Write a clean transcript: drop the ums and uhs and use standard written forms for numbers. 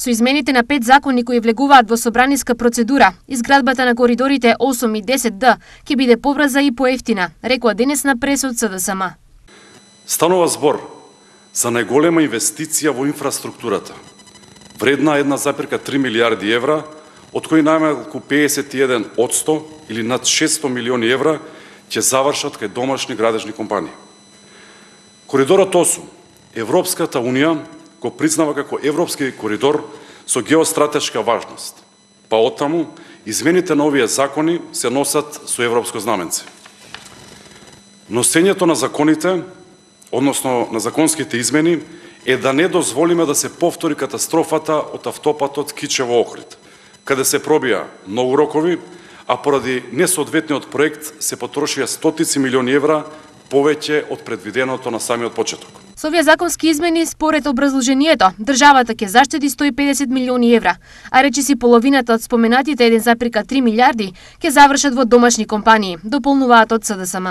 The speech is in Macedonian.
Со измените на 5 закони кои влегуваат во собраниска процедура, изградбата на коридорите 8 и 10Д ќе биде побрза и поевтина, рекоа денес на пресот СДСМ. Станува збор за најголема инвестиција во инфраструктурата, вредна 1,3 милиарди евра, од кои најмалку 51% или над 600 милиони евра ќе завршат кај домашни градежни компании. Коридорот 8, Европската Унија го признава како европски коридор со геостратешка важност, па оттаму измените на овие закони се носат со европско знаменце. Носењето на законите, односно на законските измени, е да не дозволиме да се повтори катастрофата од автопатот Кичево-Охрид, каде се пробија многу рокови, а поради несоодветниот проект се потрошија стотици милиони евра повеќе од предвиденото на самиот почеток. Со овие законски измени, според образложението, државата ќе заштеди 150 милиони евра, а речиси половината од споменатите 1,3 милиарди ќе завршат во домашни компании, дополнуваат од СДСМ.